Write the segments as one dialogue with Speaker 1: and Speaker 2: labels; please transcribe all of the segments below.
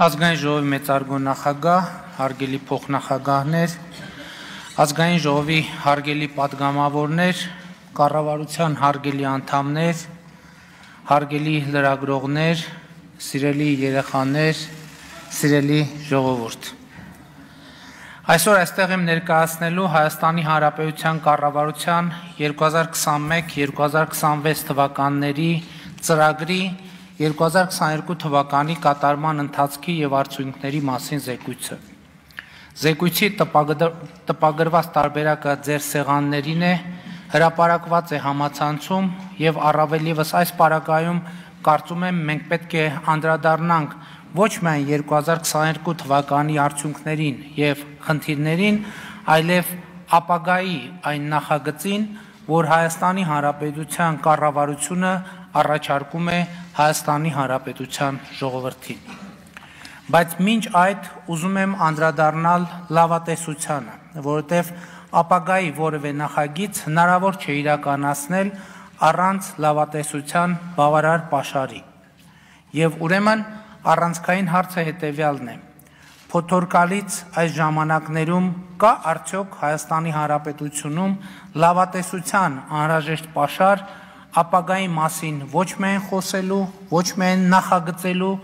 Speaker 1: Ազգային ժողովի մեծարգո նախագահ, հարգելի փոխնախագահներ, ազգային ժողովի հարգելի պատգամավորներ, կառավարության հարգելի անդամներ, հարգելի լրագրողներ, սիրելի երեխաներ, սիրելի ժողովուրդ։ Այսօր այստեղ եմ ներկայացնելու Հայաստանի Հանրապետության կառավարության 2021-2026 թվականների ծրագրի 2022 թվականի կատարման ընթացքի և արդյունքների մասին զեկույցը։ Զեկույցի տպագրված տարբերակը ձեր սեղաններին է, հրապարակված է համացանցում և առավել ևս այս պարագայում կարծում եմ մենք պետք է անդրադառնանք ոչ միայն 2022 թվականի արդյունքներին և խնդիրներին, այլև ապագայի այն նախագծին, որ Հայաստանի Հանրապետության կառավարությունը առաջարկում է Հայաստանի Հանրապետության ժողովրդին։ Բայց մինչ այդ ուզում եմ անդրադառնալ լավատեսությանը, որովհետև ապագայի որևէ նախագիծ հնարավոր չէ իրականացնել առանց լավատեսության բավարար պաշարի։ Եվ ուրեմն առանցքային հարցը հետևյալն է. Փոթորկալից այս ժամանակներում կա արդյոք Հայաստանի Հանրապետությունում լավատեսության անհրաժեշտ պաշար ապագայի մասին ոչ միայն խոսելու, ոչ միայն նախագծելու,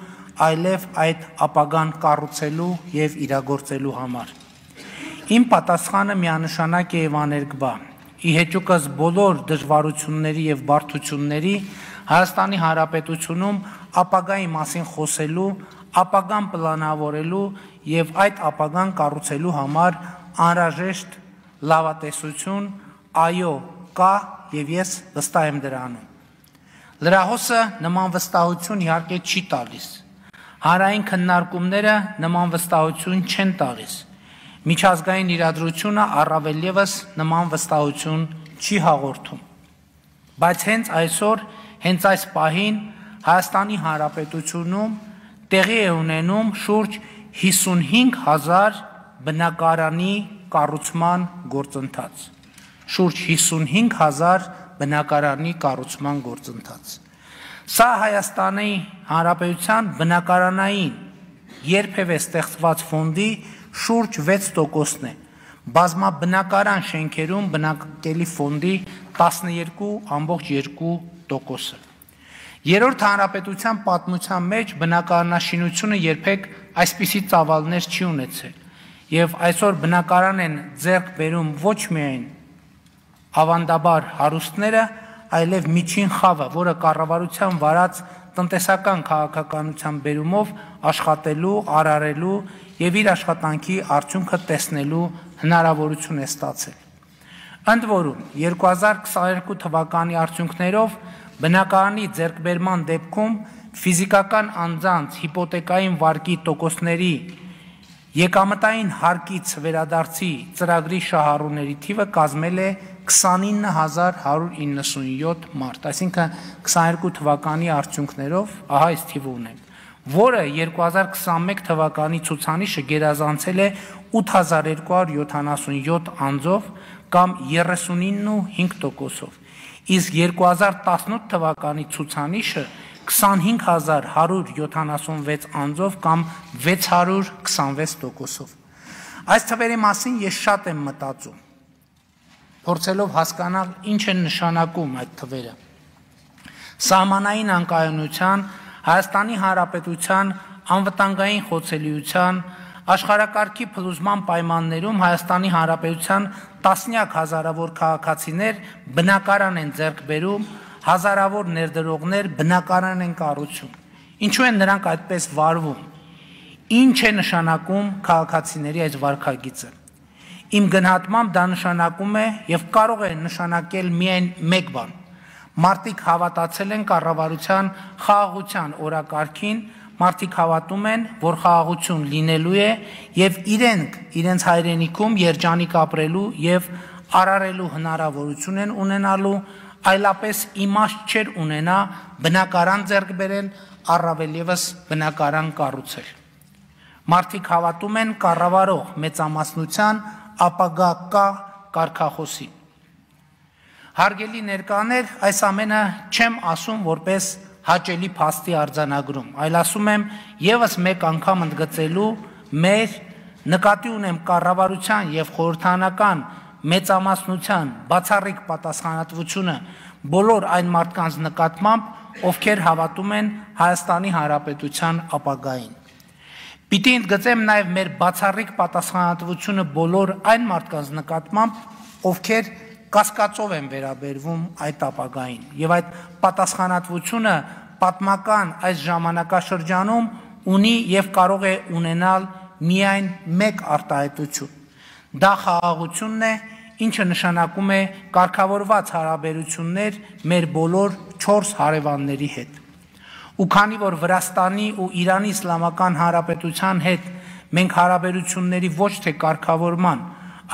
Speaker 1: այլև այդ ապագան կառուցելու և իրագործելու համար։ Իմ պատասխանը միանշանակ է և աներկբա։ Ի հեճուկս բոլոր դժվարությունների և բարդությունների Հայաստանի Հանրապետությունում ապագայի մասին խոսելու, ապագան պլանավորելու և այդ ապագան կառուցելու համար անհրաժեշտ լավատեսություն, այո, կա և ես վստահ եմ դրանում։ Լրահոսը նման վստահություն իհարկե չի տալիս։ Հանրային քննարկումները նման վստահություն չեն տալիս։ Միջազգային իրադրությունը առավել ևս նման վստահություն չի հաղորդում։ Բայց հենց այսօր, հենց այս պահին Հայաստանի Հանրապետությունում տեղի է ունենում շուրջ 55,000 բնակարանի կառուցման գործընթաց։ Շուրջ 55,000 բնակարանի կառուցման գործընթաց։ Սա Հայաստանի Հանրապետության բնակարանային երբևէ ստեղծված ֆոնդի շուրջ 6%-ն է, բազմաբնակարան շենքերում բնակելի ֆոնդի 12,2%-ը։ Երրորդ հանրապետության պատմության մեջ բնակարանաշինությունը երբեք այսպիսի ծավալներ չի ունեցել, և այսօր բնակարան են ձեռք բերում ոչ միայն ավանդաբար հարուստները, այլև միջին խավը, որը կառավարության վարած տնտեսական քաղաքականության բերումով աշխատելու, արարելու և իր աշխատանքի արդյունքը տեսնելու հնարավորություն է ստացել։ Ընդ որում, 2022 թվականի արդյունքներով բնակարանի ձեռքբերման դեպքում ֆիզիկական անձանց հիպոթեկային վարկի տոկոսների եկամտային հարկից վերադարձի ծրագրի շահառուների թիվը կազմել է 29197 մարդ, այսինքն 22 թվականի արդյունքներով ահա այս թիվը ունենք, որը 2021 թվականի ցուցանիշը գերազանցել է 8277 անձով կամ 39.5%-ով, իսկ 2018 թվականի ցուցանիշը 25176 անձով կամ 626%-ով։ Այս թվերի մասին ես շատ եմ մտածում, փորձելով հասկանալ ինչ են նշանակում այդ թվերը։ Սահմանային անկայունության, Հայաստանի Հանրապետության անվտանգային խոցելիության, աշխարհակարգի փլուզման պայմաններում Հայաստանի Հանրապետության տասնյակ հազարավոր քաղաքացիներ բնակարան են ձեռք բերում, հազարավոր ներդրողներ բնակարան են կառուցում։ Ինչու են նրանք այդպես վարվում։ Ինչ է նշանակում քաղաքացիների այս վարքագիծը։ Իմ գնահատմամբ դա նշանակում է և կարող է նշանակել միայն մեկ բան. մարդիկ հավատացել են կառավարության խաղաղության օրակարգին, մարդիկ հավատում են, որ խաղաղություն լինելու է և իրենք իրենց հայրենիքում երջանիկ ապրելու և արարելու հնարավորություն են ունենալու, այլապես իմաստ չէր ունենա բնակարան ձեռք բերել, առավել ևս բնակարան կառուցել։ Մարդիկ հավատում են կառավարող մեծամասնության ապագա կարգախոսին։ Հարգելի ներկաներ, այս ամենը չեմ ասում որպես հաճելի փաստի արձանագրում, այլ ասում եմ եւս մեկ անգամ ընդգծելու մեր նկատի ունեմ կառավարության եւ խորհրդարանական մեծամասնության բացառիկ պատասխանատվությունը բոլոր այն մարդկանց նկատմամբ, ովքեր հավատում են Հայաստանի Հանրապետության ապագային։ Պիտի ընդգծեմ նաև մեր բացառիկ պատասխանատվությունը բոլոր այն մարդկանց նկատմամբ, ովքեր կասկածով են վերաբերվում այդ ապագային, եւ այդ պատասխանատվությունը պատմական այս ժամանակաշրջանում ունի եւ կարող է ունենալ միայն մեկ արտահայտություն։ Դա խաղաղությունն է, ինչը նշանակում է կարգավորված հարաբերություններ մեր բոլոր 4 հարևանների հետ։ Ու քանի որ Վրաստանի ու Իրանի Իսլամական Հանրապետության հետ մենք հարաբերությունների ոչ թե կարգավորման,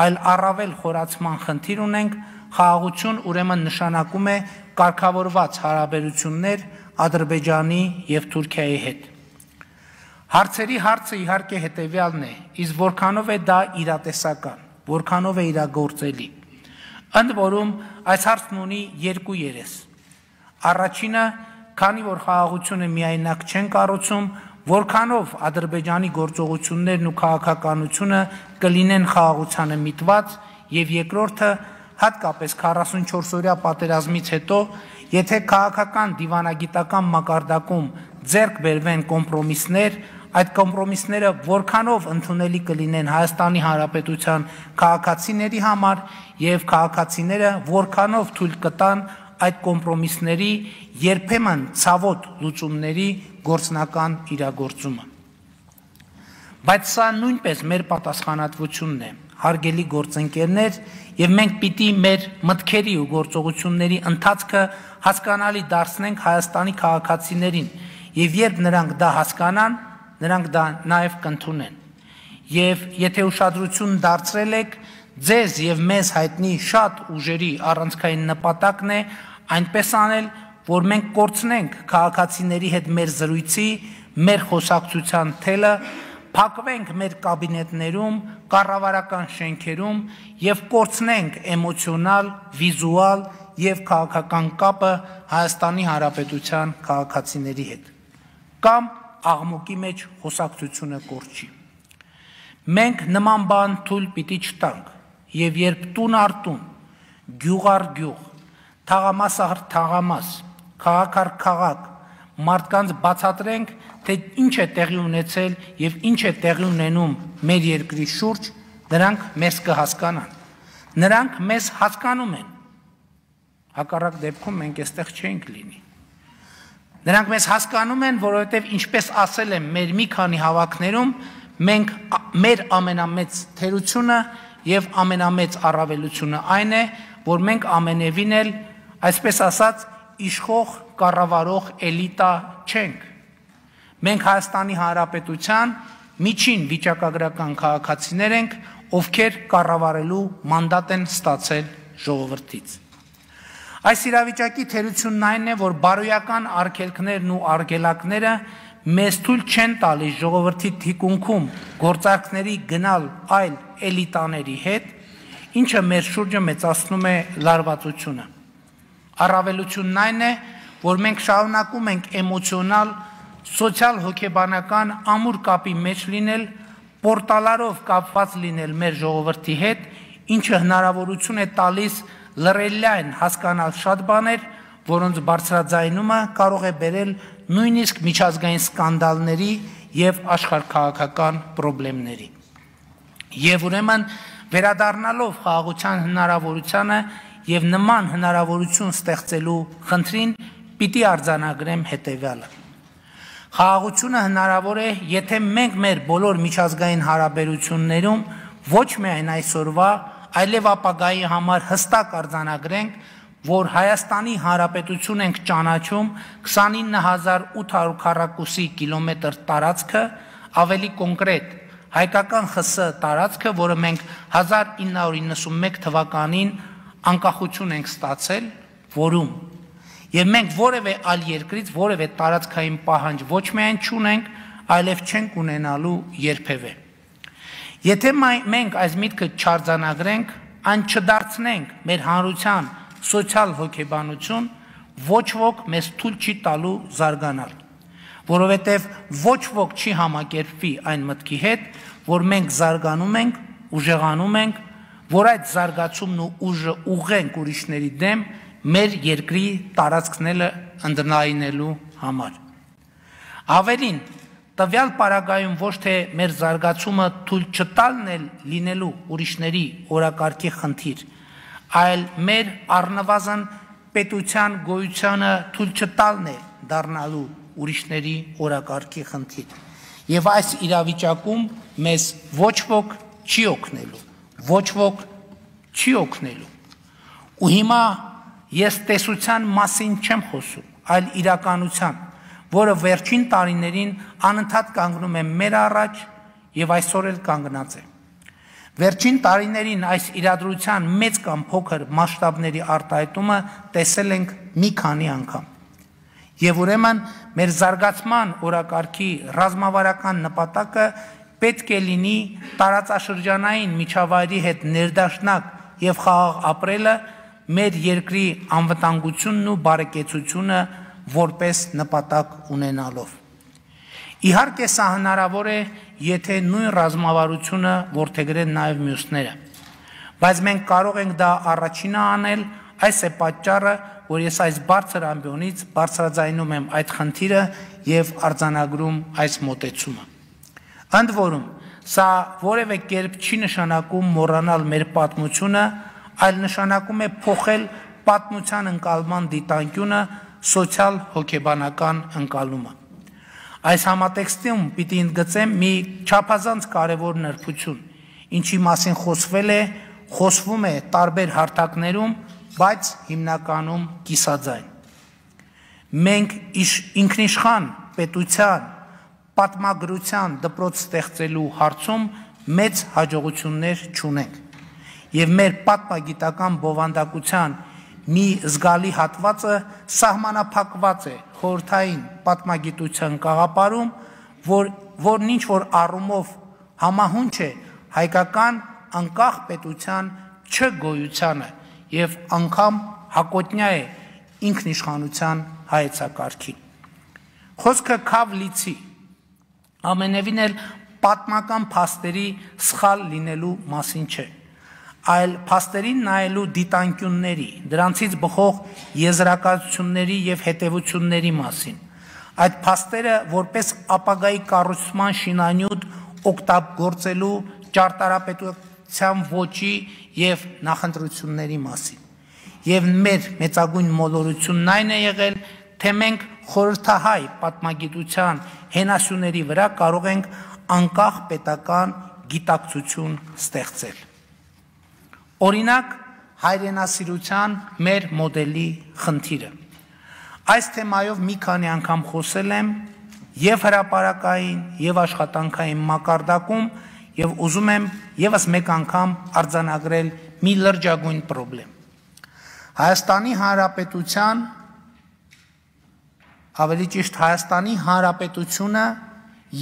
Speaker 1: այլ առավել խորացման խնդիր ունենք, խաղաղություն ուրեմն նշանակում է կարգավորված հարաբերություններ Ադրբեջանի եւ Թուրքիայի հետ։ Հարցերի հարցը իհարկե հետեւյալն է, իսկ որքանով է դա իրատեսական, որքանով է իրագործելի։ Ընդ որում այս հարցն ունի երկու երես։ Առաջինը, քանի որ խաղաղությունը միայնակ չեն կառուցում, որքանով Ադրբեջանի գործողություններն ու քաղաքականությունը կլինեն խաղաղությանը միտված, եւ երկրորդը, հատկապես 44-օրյա պատերազմից հետո, եթե քաղաքական դիվանագիտական մակարդակում ձեռք բերվեն կոմպրոմիսներ, այդ կոմպրոմիսները որքանով ընդունելի կլինեն Հայաստանի Հանրապետության քաղաքացիների համար եւ քաղաքացիները որքանով թույլ կտան այդ կոմպրոմիսների երբեմն ցավոտ լուծումների գործնական իրագործումը։ Բայց սա նույնպես մեր պատասխանատվությունն է, հարգելի գործընկերներ, եւ մենք պիտի մեր մտքերի ու գործողությունների ընթացքը հասկանալի դարձնենք Հայաստանի քաղաքացիներին, եւ երբ նրանք դա հասկանան, նրանք դա նաեւ կընդունեն։ Եվ եթե ուշադրություն դարձրել եք, ձեզ եւ մեզ հայտնի շատ ուժերի առանցքային նպատակն է այնպես անել, որ մենք կորցնենք քաղաքացիների հետ մեր զրույցի, մեր խոսակցության թելը, փակվենք մեր կաբինետներում, կառավարական շենքերում եւ կորցնենք էմոցիոնալ, վիզուալ եւ քաղաքական կապը Հայաստանի Հանրապետության քաղաքացիների հետ։ Կամ աղմուկի մեջ խոսակցությունը կորչի։ Մենք նման բան թույլ պիտի չտանք, եւ երբ տուն առ տուն, գյուղ առ գյուղ, թաղամաս առ թաղամաս, քաղաք առ քաղաք, մարդկանց բացատրենք, թե ինչ է տեղի ունեցել եւ ինչ է տեղի ունենում մեր երկրի շուրջ, նրանք մեզ կհասկանան։ Նրանք մեզ հասկանում են։ Հակառակ դեպքում մենք այստեղ չենք լինի։ Նրանք մեզ հասկանում են, որովհետև ինչպես ասել եմ մեր մի քանի հավաքներում, մենք մեր ամենամեծ թերությունը եւ ամենամեծ առավելությունը այն է, որ մենք ամենևին էլ, այսպես ասած, իշխող կառավարող էլիտա չենք։ Մենք Հայաստանի Հանրապետության միջին վիճակագրական քաղաքացիներ ենք, ովքեր կառավարելու մանդատ են ստացել ժողովրդից։ Այս իրավիճակի թերությունն այն է, որ բարոյական արգելքներն ու արգելակները մեզ թույլ չեն տալիս ժողովրդի թիկունքում գործարքների գնալ այլ էլիտաների հետ, ինչը մեր շուրջը մեծացնում է լարվածությունը։ Առավելությունն այն է, որ մենք շարունակում ենք էմոցիոնալ, սոցիալ-հոգեբանական ամուր կապի մեջ լինել, պորտալարով կապված լինել մեր ժողովրդի հետ, ինչը հնարավորություն է տալիս լրելյան հասկանալ շատ բաներ, որոնց բարձրաձայնումը կարող է բերել նույնիսկ միջազգային սկանդալների եւ աշխարհքաղաքական խնդիրների։ Եվ ուրեմն վերադառնալով խաղաղության հնարավորությանը եւ նման հնարավորություն ստեղծելու խնդրին, պիտի արձանագրեմ հետեւյալը։ Խաղաղությունը հնարավոր է, եթե մենք մեր բոլոր միջազգային հարաբերություններում ոչ միայն այսօրվա, այլև ապագայի համար հստակ արձանագրենք, որ Հայաստանի Հանրապետություն ենք ճանաչում 29800 քառակուսի կիլոմետր տարածքը, ավելի կոնկրետ հայկական ԽՍՀ տարածքը, որը մենք 1991 թվականին անկախություն ենք ստացել, որում եւ մենք որևէ այլ երկրից որևէ տարածքային պահանջ ոչ միայն չունենք, այլև չենք ունենալու երբևէ։ Եթե մենք այս միտքը չարձանագրենք, այն չդարձնենք մեր հանրության սոցիալ հոգեբանություն, ոչ ոք մեզ թույլ չի տալու զարգանալ, որովհետև ոչ ոք չի համակերպվի այն մտքի հետ, որ մենք զարգանում ենք, ուժեղանում ենք, որ այդ զարգացումն ու ուժը ուղղենք ուրիշների դեմ մեր երկրի տարածքները ընդնայնելու համար։ Ավելին, տվյալ պարագայում ոչ թե մեր զարգացումը թույլ չտալն է լինելու ուրիշների օրակարգի խնդիր, այլ մեր առնվազն պետության գոյությանը թույլ չտալն է դառնալու ուրիշների օրակարգի խնդիր։ Եվ այս իրավիճակում մեզ ոչ ոք չի օգնելու, ոչ ոք չի օգնելու։ Ու հիմա ես տեսության մասին չեմ խոսում, այլ իրականության, որը վերջին տարիներին անընդհատ կանգնում է մեր առաջ եւ այսօր էլ կանգնած է։ Վերջին տարիներին այս իրադրության մեծ կամ փոքր մասշտաբների արտահայտումը տեսել ենք մի քանի անգամ։ Եվ ուրեմն մեր զարգացման օրակարգի ռազմավարական նպատակը պետք է լինի տարածաշրջանային միջավայրի հետ ներդաշնակ եւ խաղաղ ապրելը, մեր երկրի անվտանգությունն ու բարեկեցությունը որպես նպատակ ունենալով։ Իհարկե սա հնարավոր է, եթե նույն ռազմավարությունը որդեգրեն նաև մյուսները, բայց մենք կարող ենք դա առաջինը անել, այս է պատճառը, որ ես այս բարձր ամբիոնից բարձրաձայնում եմ այդ խնդիրը եւ արձանագրում այս մոտեցումը։ Ընդ որում, սա որևէ կերպ չի նշանակում մոռանալ մեր պատմությունը, այլ նշանակում է փոխել պատմության ընկալման դիտանկյունը սոցիալ-հոգեբանական ընկալումը։ Այս համատեքստում պիտի ընդգծեմ մի չափազանց կարևոր նրբություն, ինչի մասին խոսվում է տարբեր հարթակներում, բայց հիմնականում կիսաձայն։ Մենք ինքնիշխան պետության պատմագրության դպրոց ստեղծելու հարցում մեծ հաջողություններ չունենք, եւ մեր պատմագիտական բովանդակության մի զգալի հատվածը սահմանափակված է խորհրդային պատմագիտության գաղափարում, որն ինչ որ առումով համահունչ է հայկական անկախ պետության չգոյությանը եւ անգամ հակոտնյա է ինքնիշխանության հայեցակարգին։ Խոսքը քավ լիցի, ամենևին էլ պատմական փաստերի սխալ լինելու մասին չէ, այլ փաստերին նայելու դիտանկյունների, դրանցից բխող եզրակացությունների եւ հետեւությունների մասին։ Այդ փաստերը որպես ապագայի կառուցման շինանյութ օգտագործելու ճարտարապետության ոճի եւ նախընտրությունների մասին։ Եվ մեր մեծագույն մոլորությունն այն է եղել, թե մենք խորհրդահայ պատմագիտության հենասյուների վրա կարող ենք անկախ պետական գիտակցություն ստեղծել։ Օրինակ, հայրենասիրության մեր մոդելի խնդիրը։ Այս թեմայով մի քանի անգամ խոսել եմ եւ հրապարակային, եւ աշխատանքային մակարդակում, եւ ուզում եմ եւս մեկ անգամ արձանագրել մի լրջագույն խնդրեմ։ Հայաստանի Հանրապետության, ավելի ճիշտ Հայաստանի Հանրապետությունը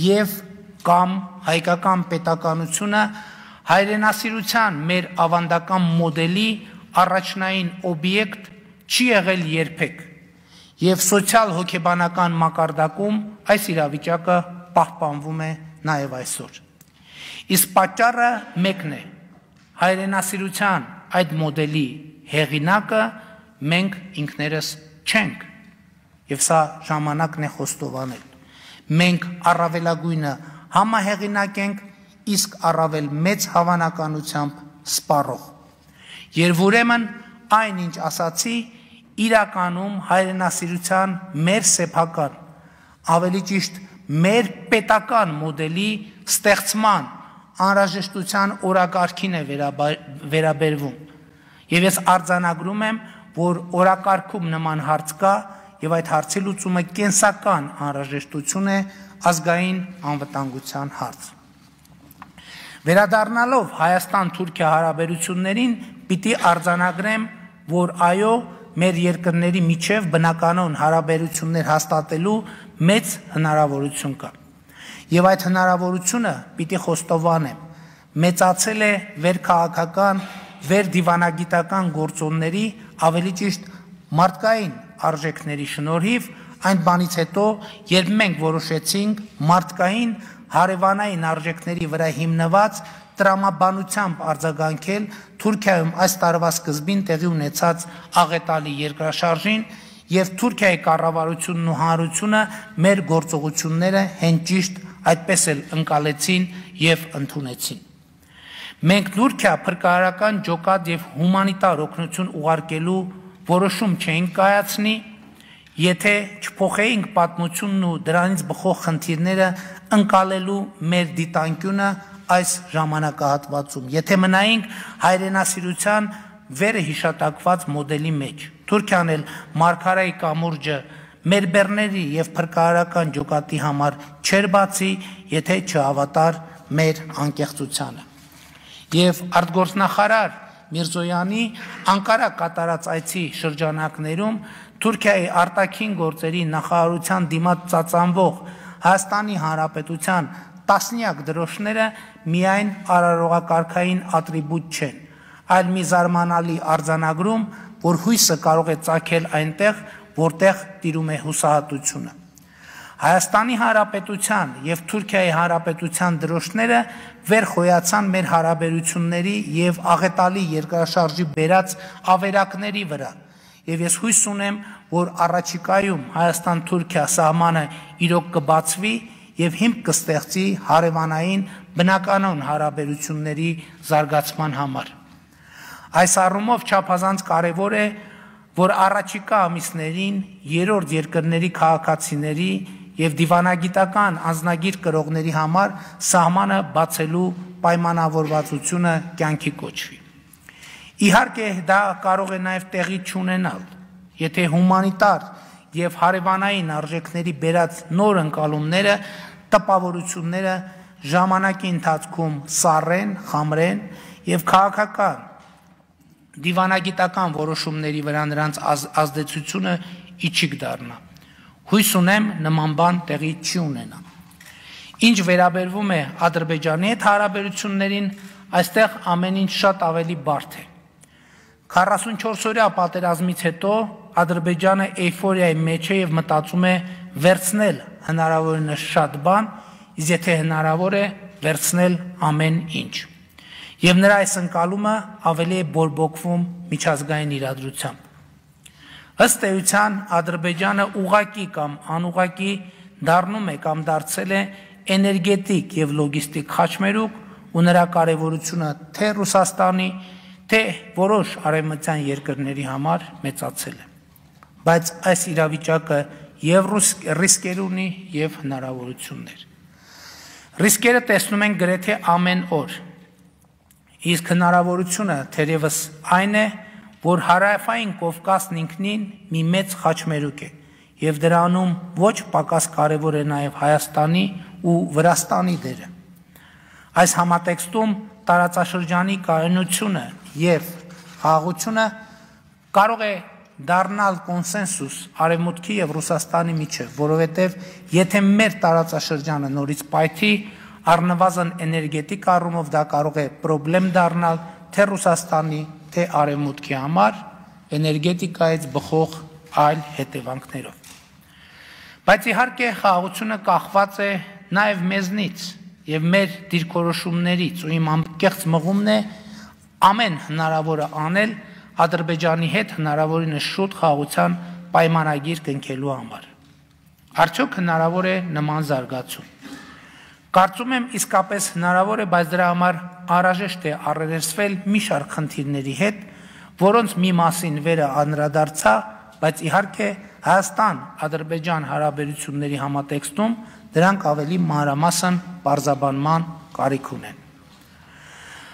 Speaker 1: եւ կամ հայկական պետականությունը հայրենասիրության մեր ավանդական մոդելի առաջնային օբյեկտ չի եղել երբեք, եւ սոցիալ-հոգեբանական մակարդակում այս իրավիճակը պահպանվում է նաեւ այսօր։ Իսկ պատճառը մեկն է, հայրենասիրության այդ մոդելի հեղինակը մենք ինքներս չենք, եւ սա ժամանակն է խոստովանել։ Մենք առավելագույնը համահեղինակ ենք, իսկ առավել մեծ հավանականությամբ սպառող։ Երբ ուրեմն այնինչ ասացի, իրականում հայրենասիրության մեր սեփական, ավելի ճիշտ մեր պետական մոդելի ստեղծման անհրաժեշտության օրակարգին է վերաբերվում։ Եվ ես արձանագրում եմ, որ օրակարգում նման հարց կա եւ այդ հարցի լուծումը կենսական անհրաժեշտություն է, ազգային անվտանգության հարց։ Վերադառնալով Հայաստան-Թուրքիա հարաբերություններին, պիտի արձանագրեմ, որ այո, մեր երկրների միջև բնականon հարաբերություններ հաստատելու մեծ հնարավորություն կա։ Եվ այդ հնարավորությունը պիտի խոստովանեմ, մեծացել է վերքաղաքական, վերդիվանագիտական գործոնների, ավելի ճիշտ մարդկային արժեքների շնորհիվ այն բանից հետո, երբ մենք որոշեցինք մարդկային հարևանային արժեքների վրա հիմնված տրամաբանությամբ արձագանքել Թուրքիայում այս տարվա սկզբին տեղի ունեցած աղետալի երկրաշարժին եւ Թուրքիայի կառավարությունն ու հանրությունը մեր գործողությունները հենց ճիշտ այդպես էլ ընկալեցին եւ ընդունեցին։ Մենք Թուրքիա փրկարարական ջոկատ եւ հումանիտար օգնություն ուղարկելու որոշում չէինք կայացնի, եթե չփոխեինք պատմությունն ու դրանից բխող խնդիրները ընկալելու մեր դիտանկյունը այս ժամանակահատվածում, եթե մնայինք հայրենասիրության վերը հիշատակված մոդելի մեջ։ Թուրքիան էլ մարգարայի կամուրջը մեր բեռների եւ փրկարարական ջոկատի համար չէր բացի, եթե չհավատար մեր անկեղծությանը։ Եվ արտգործնախարար Միրզոյանի Անկարա կատարած այցի շրջանակներում Թուրքիայի արտաքին գործերի նախարարության դիմաց ծածանվող Հայաստանի Հանրապետության տասնյակ դրոշները միայն արարողակարգային ատրիբուտ չեն, այլ մի զարմանալի արձանագրում, որ հույսը կարող է ծագել այնտեղ, որտեղ տիրում է հուսահատությունը։ Հայաստանի Հանրապետության եւ Թուրքիայի Հանրապետության դրոշները վեր խոյացան մեր հարաբերությունների եւ աղետալի երկրաշարժի բերած ավերակների վրա, եւ ես հույս ունեմ, որ առաջիկայում Հայաստան-Թուրքիա սահմանը իրոք կբացվի եւ հիմք կստեղծի հարևանային բնականon հարաբերությունների զարգացման համար։ Այս առումով չափազանց կարևոր է, որ առաջիկա ամիսներին երրորդ երկրների քաղաքացիների եւ դիվանագիտական անձնագիր կրողների համար սահմանը բացելու պայմանավորվածությունը կյանքի կոչվի։ Իհարկե դա կարող է նաեւ տեղի չունենալ, եթե հումանիտար եւ հարևանային արժեքների բերած նոր ընկալումները, տպավորությունները ժամանակի ընթացքում սառեն, խամրեն եւ քաղաքական դիվանագիտական որոշումների վրա նրանց ազդեցությունը իջիկ դառնա։ Հույս ունեմ նման բան տեղի չի ունենա։ Ինչ վերաբերվում է Ադրբեջանի հետ հարաբերություններին, այստեղ ամեն ինչ շատ ավելի բարդ է։ 44-օրյա պատերազմից հետո Ադրբեջանը էյֆորիայի մեջ է եւ մտածում է վերցնել հնարավորինս շատ բան, իսկ եթե հնարավոր է վերցնել ամեն ինչ։ Եվ նրա այս ընկալումը ավելի է բորբոքվում միջազգային իրադրությամբ։ Ըստ էության Ադրբեջանը ուղղակի կամ անուղղակի դառնում է կամ դարձել է էներգետիկ եւ լոգիստիկ խաչմերուկ ու նրա կարեւորությունը թե Ռուսաստանի, թե որոշ արևմտյան երկրների համար մեծացել է։ Բայց այս իրավիճակը եւ ռիսկեր ունի եւ հնարավորություններ։ Ռիսկերը տեսնում են գրեթե ամեն օր։ Իսկ հնարավորությունը թերևս այն է, որ հարավային Կովկասն ինքնին մի մեծ խաչմերուկ է եւ դրանում ոչ պակաս կարեւոր է նաեւ Հայաստանի ու Վրաստանի դերը։ Այս համատեքստում տարածաշրջանի կայունությունը եւ խաղաղությունը կարող է դառնալ կոնսենսուս Արևմուտքի եւ Ռուսաստանի միջեւ, որովհետեւ եթե մեր տարածաշրջանը նորից պայթի, առնվազն էներգետիկ առումով դա կարող է խնդրեմ դառնալ թե Ռուսաստանի, թե Արևմուտքի համար էներգետիկայից բխող այլ հետևանքներով։ Բայց իհարկե խաղաղությունը կախված է նաեւ մեզնից եւ մեր դիրքորոշումներից ու իմ անկեղծ մղումն է ամեն հնարավորը անել Ադրբեջանի հետ հնարավորինս շուտ խաղաղության պայմանագիր կնքելու համար։ Արդյոք հնարավոր է նման զարգացում։ Կարծում եմ իսկապես հնարավոր է, բայց դրա համար անհրաժեշտ է առերեսվել մի շարք խնդիրների հետ, որոնց մի մասին վերը անդրադարձա, բայց իհարկե Հայաստան-Ադրբեջան հարաբերությունների համատեքստում դրանք ավելի մանրամասն բարձաբանման կարիք ունեն։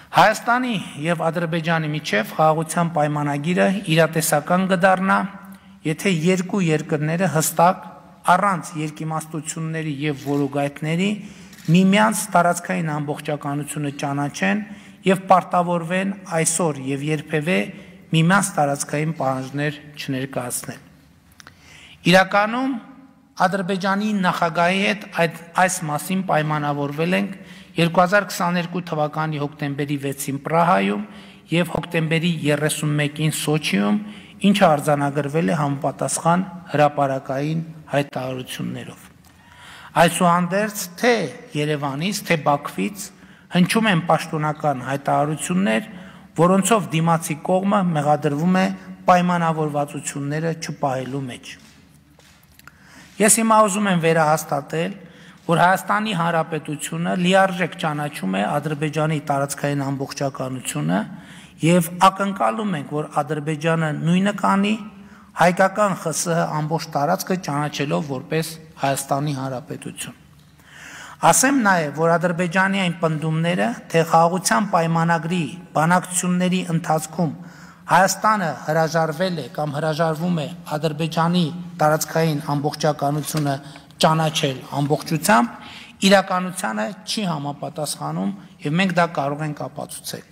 Speaker 1: Հայաստանի եւ Ադրբեջանի միջև խաղաղության պայմանագիրը իրատեսական կդառնա, եթե երկու երկրները հստակ առանց երկիմաստությունների եւ որոգայթների միմյանց տարածքային ամբողջականությունը ճանաչեն եւ պարտավորվեն այսօր եւ երբևէ միմյանց տարածքային պահանջներ չներկայացնել։ Իրականում Ադրբեջանի նախագահի հետ այս մասին պայմանավորվել ենք 2022 թվականի հոկտեմբերի 6-ին Պրահայում եւ հոկտեմբերի 31-ին Սոչիում, ինչը արձանագրվել է համապատասխան հրապարակային հայտարարություններով։ Այսուհանդերձ թե Երևանից, թե Բաքվից հնչում են պաշտոնական հայտարարություններ, որոնցով դիմացի կողմը մեղադրվում է պայմանավորվածությունները չպահելու մեջ։ Ես հիմա ուզում եմ վերահաստատել, որ Հայաստանի Հանրապետությունը լիարժեք ճանաչում է Ադրբեջանի տարածքային ամբողջականությունը եւ ակնկալում ենք, որ Ադրբեջանը նույնը կանի հայկական ԽՍՀ ամբողջ տարածքը ճանաչելով որպես Հայաստանի Հանրապետություն։ Ասեմ նաև, որ Ադրբեջանի այն պնդումները, թե խաղաղության պայմանագրի բանակցությունների ընթացքում Հայաստանը հրաժարվել է կամ հրաժարվում է Ադրբեջանի տարածքային ամբողջականությունը ճանաչել ամբողջությամբ, իրականությանը չի համապատասխանում եւ մենք դա կարող ենք ապացուցել։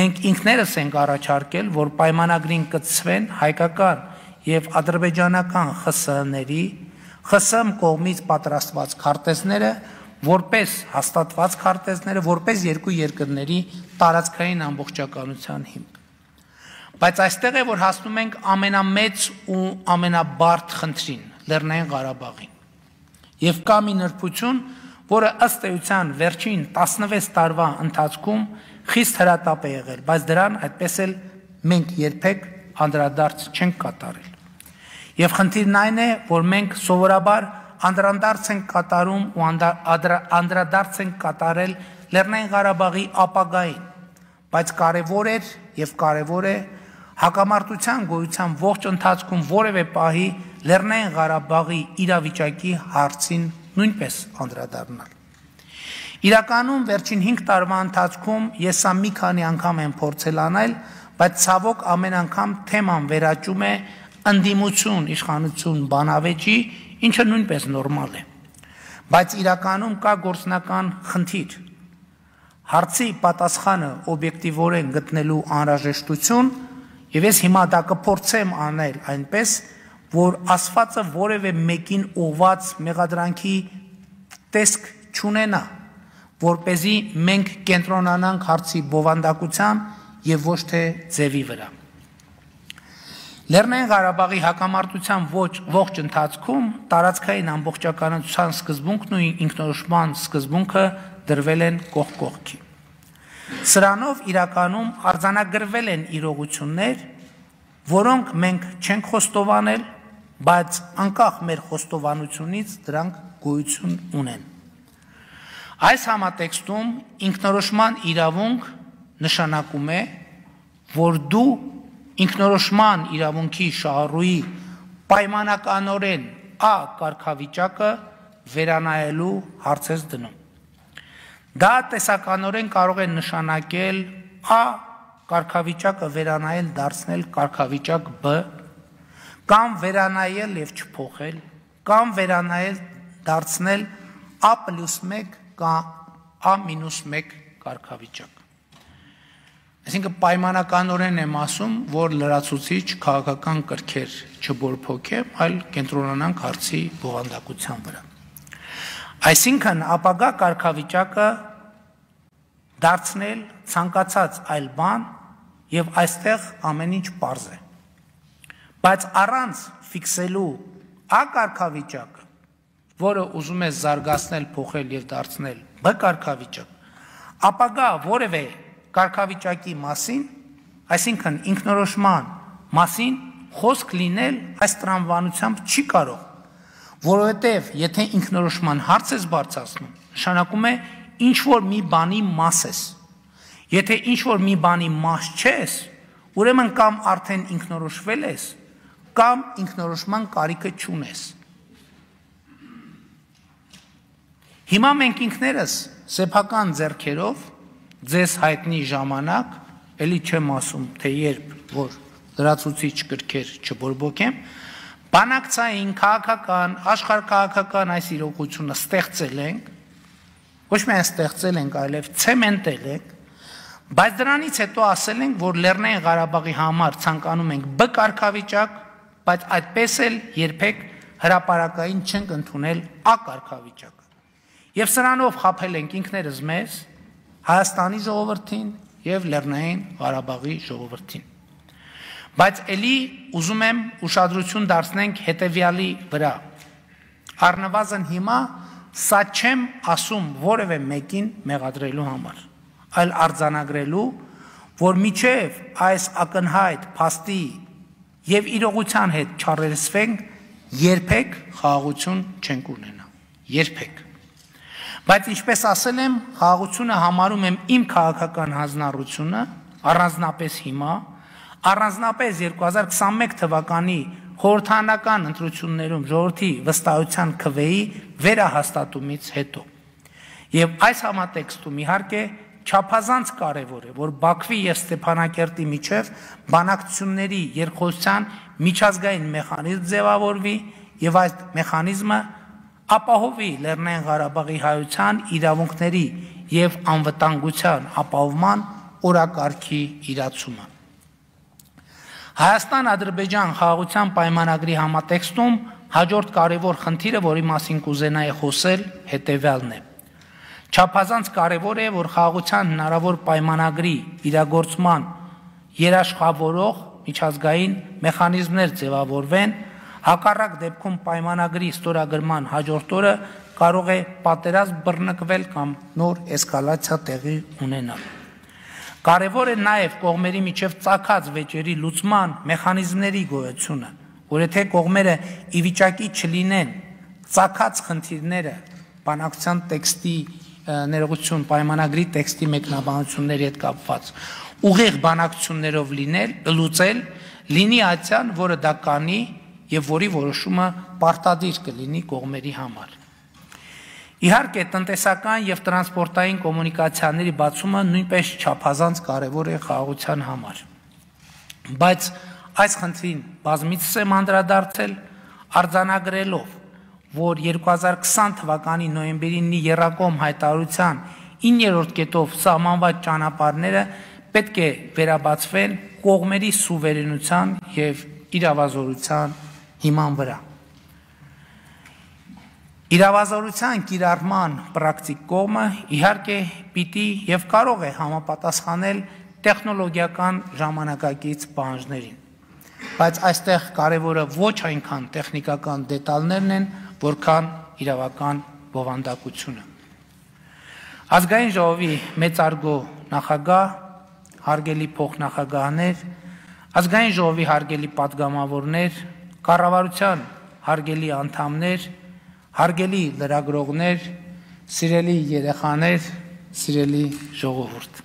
Speaker 1: Մենք ինքներս ենք առաջարկել, որ պայմանագրին կցվեն հայկական եւ ադրբեջանական ԽՍՀ-ների, ԽՍՀՄ կողմից պատրաստված քարտեզները, որպես հաստատված քարտեզները, որպես երկու երկրների տարածքային ամբողջականության հիմք։ Բայց այստեղ է, որ հասնում ենք ամենամեծ ու ամենաբարդ խնդրին՝ Լեռնային Ղարաբաղին։ Եվ կա մի նրբություն, որը ըստ էության վերջին 16 տարվա ընթացքում խիստ հրատապ է եղել, բայց դրան այդպես էլ մենք երբեք անդրադարձ չենք կատարել։ Եվ խնդիրն այն է, որ մենք սովորաբար անդրադարձ ենք կատարում ու անդրադարձ ենք կատարել Լեռնային Ղարաբաղի ապագային, բայց կարևոր էր եւ կարևոր է հակամարտության գոյության ողջ ընթացքում որևէ պահի Լեռնային Ղարաբաղի իրավիճակի հարցին նույնպես անդրադառնալ։ Իրականում վերջին 5 տարվա ընթացքում ես սա մի քանի անգամ եմ փորձել անել, բայց ցավոք ամեն անգամ թեման վերաճում է ընդդիմություն, իշխանություն, բանավեճի, ինչը նույնպես նորմալ է։ Բայց իրականում կա գործնական խնդիր։ Հարցի պատասխանը օբյեկտիվորեն գտնելու անհրաժեշտություն, եւ ես հիմա դա կփորձեմ անել այնպես, որ ասվածը որևէ մեկին ուղված մեղադրանքի տեսք չունենա, որպեսզի մենք կենտրոնանանք հարցի բովանդակության եւ ոչ թե ձևի վրա։ Լեռնային Ղարաբաղի հակամարտության ողջ ընթացքում տարածքային ամբողջականության սկզբունքն ու ինքնորոշման սկզբունքը դրվել են կողք կողքի։ Սրանով իրականում արձանագրվել են իրողություններ, որոնք մենք չենք խոստովանել, բայց անկախ մեր խոստովանությունից դրանք գոյություն ունեն։ Այս համատեքստում ինքնորոշման իրավունք նշանակում է, որ դու ինքնորոշման իրավունքի շահառուի պայմանականորեն Ա կարգավիճակը վերանայելու հարց ես դնում։ Դա տեսականորեն կարող է նշանակել Ա կարգավիճակը վերանայել դարձնել կարգավիճակ Բ, կամ վերանայել եւ չփոխել, կամ վերանայել դարձնել A+1 կամ A-1 կարգավիճակ։ Այսինքն պայմանականորեն եմ ասում, որ լրացուցիչ քաղաքական կրքեր չբորփոքեմ, այլ կենտրոնանանք հարցի բովանդակության վրա։ Այսինքն ապագա կարգավիճակը դարձնել ցանկացած այլ բան եւ այստեղ ամեն ինչ պարզ է։ Բայց առանց ֆիքսելու Ա կարգավիճակը, որը ուզում է զարգացնել, փոխել եւ դարձնել Բ կարգավիճակ, ապագա որևէ կարգավիճակի մասին, այսինքն ինքնորոշման մասին խոսք լինել այս տրամաբանությամբ չի կարող, որովհետև եթե ինքնորոշման հարց ես բարձրացնում, նշանակում է ինչ որ մի բանի մաս ես։ Եթե ինչ որ մի բանի մաս չես, ուրեմն կամ արդեն ինքնորոշվել ես, կամ ինքնորոշման կարիքը չունես։ Հիմա մենք ինքներս սեփական ձեռքերով ձեզ հայտնի ժամանակ, էլի չեմ ասում, թե երբ, որ լրացուցիչ կրքեր չբորբոքեմ, բանակցային, քաղաքական, աշխարհքաղաքական այս իրողությունը ստեղծել ենք, ոչ միայն ստեղծել ենք, այլև ցեմենտել ենք, բայց դրանից հետո ասել ենք, որ Լեռնային Ղարաբաղի համար ցանկանում ենք Բ կարգավիճակ, բայց այդպես էլ երբեք հրապարակային չենք ընդունել Ա կարգավիճակը։ Եվ սրանով խաբել ենք ինքներս մեզ, Հայաստանի ժողովրդին եւ Լեռնային Ղարաբաղի ժողովրդին։ Բայց ելի ուզում եմ ուշադրություն դարձնենք հետևյալի վրա։ Առնվազն հիմա սա չեմ ասում որևէ մեկին մեղադրելու համար, այլ արձանագրելու, որ միջև այս ակնհայտ փաստի եւ իրողության հետ չառերսվենք, երբեք խաղաղություն չենք ունենա, երբեք։ Բայց ինչպես ասել եմ, խաղաղությունը համարում եմ իմ քաղաքական հանձնառությունը, առանձնապես հիմա, առանձնապես 2021 թվականի խորհրդարանական ընտրություններում ժողովրդի վստահության քվեի վերահաստատումից հետո։ Եվ այս համատեքստում իհարկե չափազանց կարևոր է, որ Բաքվի եւ Ստեփանակերտի միջև բանակցությունների երկխոսության միջազգային մեխանիզմ ձևավորվի եւ այդ մեխանիզմը ապահովի Լեռնային Ղարաբաղի հայության իրավունքների եւ անվտանգության ապահովման օրակարգի իրացումը։ Հայաստան-Ադրբեջան խաղաղության պայմանագրի համատեքստում հաջորդ կարևոր խնդիրը, որի մասին կուզենայի խոսել, հետևյալն է։ Չափազանց կարևոր է, որ խաղաղության հնարավոր պայմանագրի իրագործման երաշխավորող միջազգային մեխանիզմներ ձևավորվեն, հակառակ դեպքում պայմանագրի ստորագրման հաջորդ օրը կարող է պատերազմ բռնկվել կամ նոր էսկալացիա տեղի ունենալ։ Կարևոր է նաև կողմերի միջև ծագած վեճերի լուծման մեխանիզմների գոյությունը, որ եթե կողմերը ի վիճակի չլինեն ծագած խնդիրները բանակցության տեքստի ներողություն պայմանագրի տեքստի մեկնաբանությունների հետ կապված ուղիղ բանակցություններով լուծել, լինի այցյան, որը դա կանի եւ որի որոշումը պարտադիր կլինի կողմերի համար։ Իհարկե, տնտեսական եւ տրանսպորտային կոմունիկացիաների բացումը նույնպես չափազանց կարևոր է խաղաղության համար։ Բայց այս խնդրին բազմիցս եմ անդրադարձել, արձանագրելով, որ 2020 թվականի նոյեմբերի 9-ի եռակողմ հայտարարության 9-րդ կետով սահմանված ճանապարհները պետք է վերաբացվեն կողմերի սուվերենության եւ իրավազորության հիման վրա։ Իրավազորության կիրառման պրակտիկ կողմը իհարկե պիտի եւ կարող է համապատասխանել տեխնոլոգիական ժամանակակից պահանջներին, բայց այստեղ կարևորը ոչ այնքան տեխնիկական դետալներն են, որքան իրավական բովանդակությունը։ Ազգային ժողովի մեծարգո նախագահ, հարգելի փոխնախագահներ, ազգային ժողովի հարգելի պատգամավորներ, կառավարության հարգելի անդամներ, հարգելի լրագրողներ, սիրելի երեխաներ, սիրելի ժողովուրդ։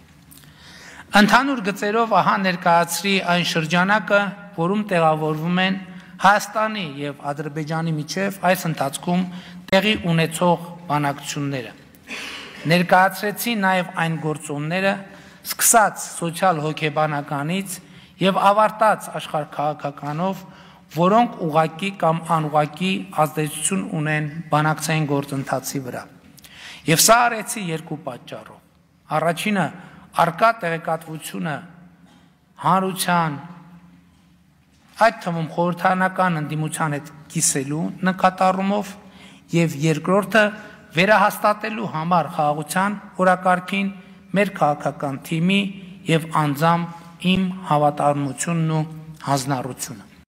Speaker 1: Ընդհանուր գծերով ահա ներկայացրի այն շրջանակը, որում տեղավորվում են Հայաստանի եւ Ադրբեջանի միջև այս ընթացքում տեղի ունեցող բանակցությունները։ Ներկայացրեցի նաեւ այն գործոնները, սկսած սոցիալ-հոգեբանականից եւ ավարտած աշխարհքաղաքականով, որոնք ուղղակի կամ անուղղակի ազդեցություն ունեն բանակցային գործընթացի վրա։ Եվ սա արեցի երկու պատճառով։ Առաջինը արկա տեղեկատվությունը հանրության, այդ թվում խորհրդարանական ընդդիմության հետ կիսելու նկատառումով եւ երկրորդը վերահաստատելու համար խաղաղության օրակարգին մեր քաղաքական թիմի եւ անձամբ իմ հավատարմությունն ու հանձնառությունը։